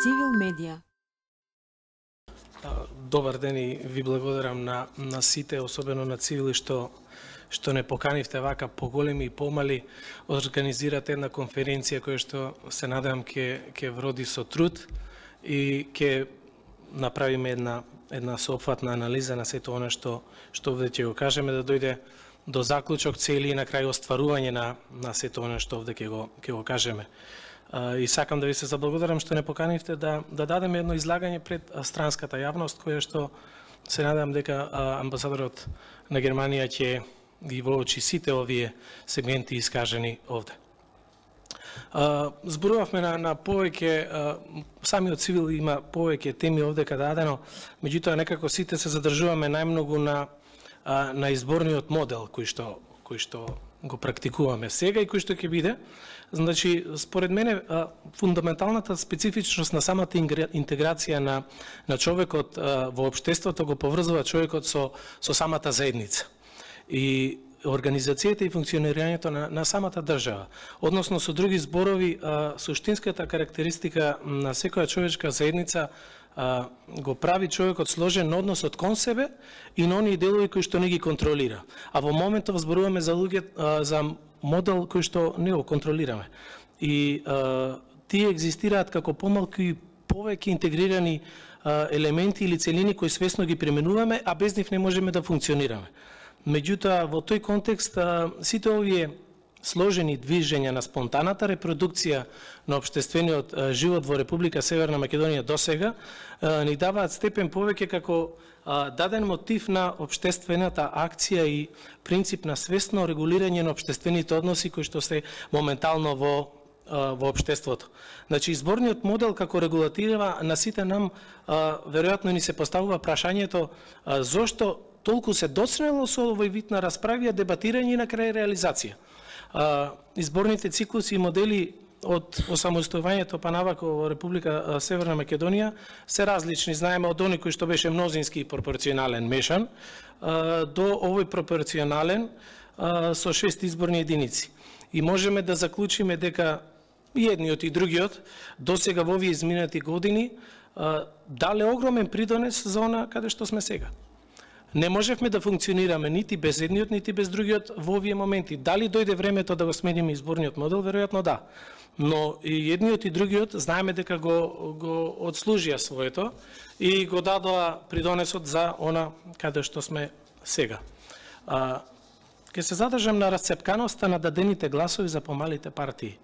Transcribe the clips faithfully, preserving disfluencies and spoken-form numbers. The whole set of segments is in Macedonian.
Цивил медија. Добар ден и ви благодарам на, на сите, особено на Цивили, што, што не поканивте вака поголеми и помали, организирате една конференција која што се надевам ќе ќе вроди со труд и ќе направиме една една соопфатна анализа на сето она што што овде ќе го кажеме, да дојде до заклучок, цели и на крај остварување на на сето она што овде ќе го ќе го кажеме. И сакам да ви се заблагодарам што не поканивте да да дадеме едно излагање пред странската јавност, која што се надам дека амбасадорот на Германија ќе ги воочи сите овие сегменти искажени овде. Зборувавме на, на повеќе, самиот Цивил има повеќе теми овде каде дадено, меѓутоа некако сите се задржуваме најмногу на на изборниот модел кој што кој што го практикуваме сега и кој што ќе биде. Значи, според мене, фундаменталната специфичност на самата интеграција на на човекот во општеството го поврзува човекот со со самата заедница. И организацијата и функционирањето на, на самата држава. Односно, со други зборови, а, суштинската карактеристика на секоја човечка заедница а, го прави човекот сложен на односот кон себе и на оние делови кои што не ги контролира. А во моментов зборуваме за луѓе, а, за модел кој што не го контролираме. И а, тие екзистираат како помалку и повеќе интегрирани а, елементи или целини кои свесно ги применуваме, а без нив не можеме да функционираме. Меѓутоа, во тој контекст, сите овие сложени движења на спонтаната репродукција на општествениот живот во Република Северна Македонија досега ни даваат степен повеќе како даден мотив на општествената акција и принцип на свесно регулирање на општествените односи кои што се моментално во во општеството. Значи, изборниот модел како регулатива на сите нам веројатно ни се поставува прашањето зошто толку се доцнело со овој вид на расправија, дебатирање и на крај реализација. Изборните циклуси и модели од осамостојувањето па навако во Република Северна Македонија се различни. Знаеме од оној кој што беше мнозински и пропорционален мешан до овој пропорционален со шест изборни единици. И можеме да заклучиме дека и едниот и другиот досега во овие изминати години дале огромен придонес за она каде што сме сега. Не можевме да функционираме нити без едниот, нити без другиот во овие моменти. Дали дојде времето да го смениме изборниот модел? Веројатно да. Но и едниот и другиот знаеме дека го, го отслужија своето и го дадоа придонесот за она каде што сме сега. А, ке се задржам на расцепканоста на дадените гласови за помалите партии.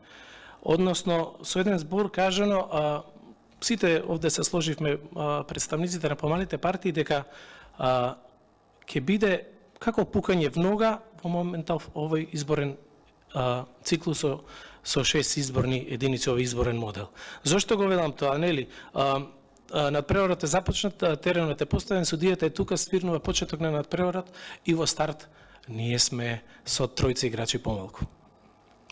Односно, со еден збор кажано, а, сите овде се сложивме а, представниците на помалите партии дека а, ќе биде како пукање в нога во моментов овој изборен а, циклус со, со шест изборни единици, овој изборен модел. Зошто го велам тоа, нели? А, а, надпреварот е започнат, теренот е поставен, судијата е тука, свирнува почеток на надпреварот и во старт ние сме со тројца играчи помалку.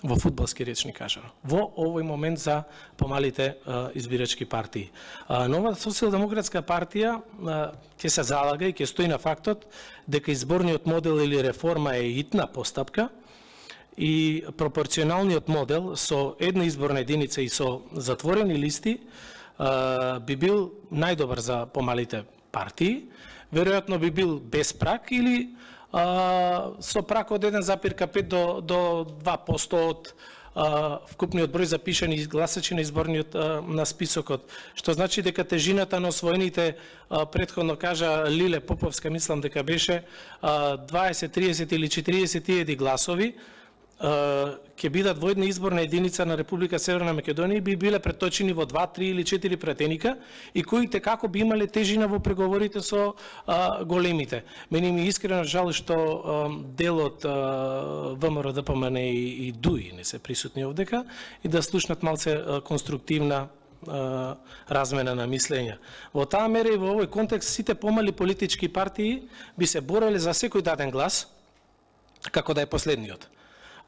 Во фудбалски речник кажано. Во овој момент за помалите а, избирачки партии. А, нова социјалдемократска партија а, ќе се залага и ќе стои на фактот дека изборниот модел или реформа е итна постапка и пропорционалниот модел со една изборна единица и со затворени листи а, би бил најдобар за помалите партии. Веројатно би бил без прак или Uh, со прак од еден запир пет до, до два проценти од uh, вкупниот број запишани гласачи на изборниот uh, на списокот, што значи дека тежината на освоените, uh, претходно кажа Лиле Поповска, мислам дека беше uh, дваесет, триесет или четириесет илјади гласови, uh, ќе бидат во една изборна единица на Република Северна Македонија и би биле преточени во два, три или четири пратеника и кои како би имале тежина во преговорите со а, големите. Мене ми искрено жал што а, дел од ВМРО Д П М Н и, и ДУИ не се присутни овдека и да слушнат малце а, конструктивна а, размена на мислења. Во таа мера и во овој контекст сите помали политички партии би се бореле за секој даден глас како да е последниот.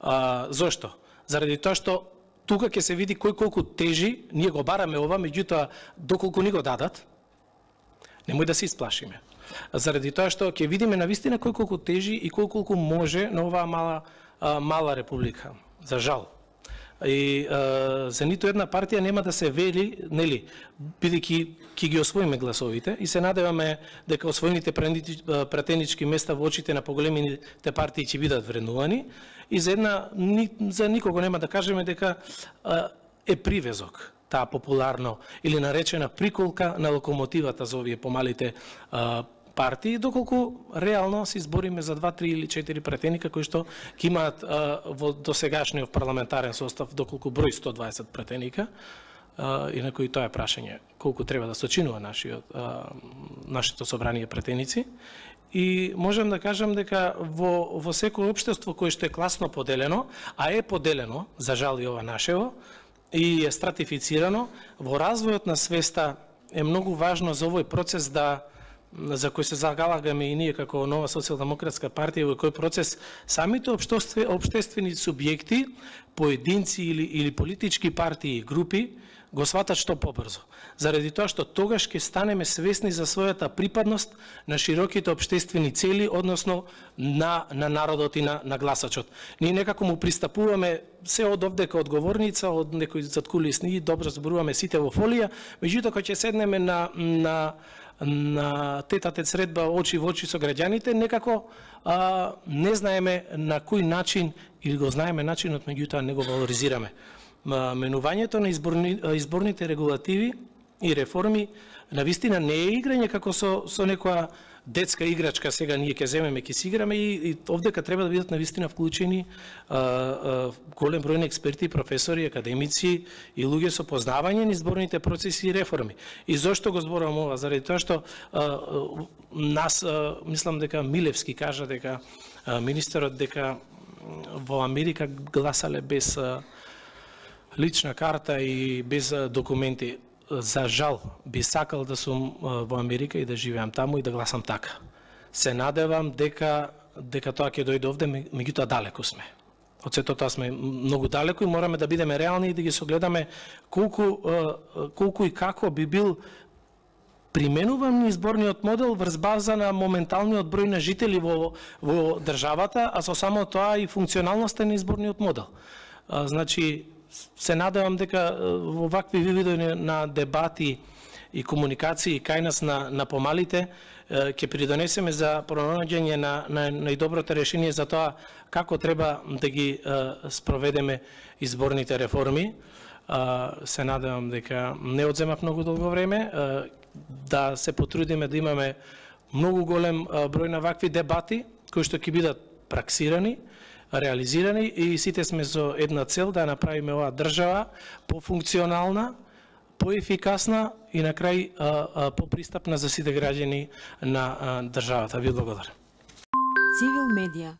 А, зошто? Заради тоа што тука ќе се види кој колку тежи, ние го бараме ова, меѓутоа доколку ни го дадат, немој да се исплашиме. Заради тоа што ќе видиме навистина кој колку тежи и кој колку може на оваа мала, а, мала република. За жал. И а, за ниту една партија нема да се вели, нели, бидејќи ќе ги освоиме гласовите и се надеваме дека освоените пратенички места во очите на поголемите партии ќе бидат вреднувани и за една за никого нема да кажеме дека а, е привезок таа популарно или наречена приколка на локомотивата за овие помалите а, партии, доколку реално се избориме за два, три или четири пратеника кои што ќе имаат а, во досегашниот парламентарен состав доколку број сто дваесет пратеника, а, и на кои тоа е прашање колку треба да сочинува нашиот а, нашето собрание пратеници. И можам да кажам дека во во секој општество кое што е класно поделено, а е поделено, за жал и ова нашево, и е стратифицирано, во развојот на свеста е многу важно за овој процес да за кој се загалагаме и ние како Нова социјалдемократска партија, во кој процес самите општествени субјекти, поединци или, или политички партии и групи го сватат што побрзо. Заради тоа што тогаш ќе станеме свесни за својата припадност на широките општествени цели, односно на, на народот и на, на гласачот. Ние некако му пристапуваме се од овдека одговорница, од некои заткулисни, добро зборуваме сите во фолија, меѓутоа кога ќе седнеме на, на на тетатет средба очи во очи со граѓаните, некако а, не знаеме на кој начин, или го знаеме начинот, меѓутоа не го валоризираме. Менувањето на изборни, изборните регулативи и реформи навистина не е играње како со, со некоја детска играчка, сега ние ќе земеме, ќе си играме и, и овдека треба да бидат навистина вклучени а, а, голем број на експерти, професори, академици и луѓе со познавање на изборните процеси и реформи. И зошто го зборувам ова? Заради тоа што а, а, нас, а, мислам дека Милевски кажа дека а, министерот дека во Америка гласале без а, лична карта и без а, документи. За жал, би сакал да сум во Америка и да живеам таму и да гласам така. Се надевам дека дека тоа ќе дојде овде, меѓутоа далеку сме. Од сето тоа сме многу далеку и мораме да бидеме реални и да ги согледаме колку колку и како би бил применуван изборниот модел врз база на моменталниот број на жители во во државата, а со само тоа и функционалноста на изборниот модел. А, значи се надевам дека во вакви видови на дебати и комуникации кај нас на, на помалите ќе придонесеме за пронаѓање на, на најдоброто решение за тоа како треба да ги спроведеме изборните реформи. Се надевам дека не одземав многу долго време, да се потрудиме да имаме многу голем број на вакви дебати кои што ќе бидат праксирани, реализирани и сите сме со една цел да направиме оваа држава пофункционална, поефикасна и на крај попристапна за сите граѓани на државата. Ви благодарам. Цивил медија.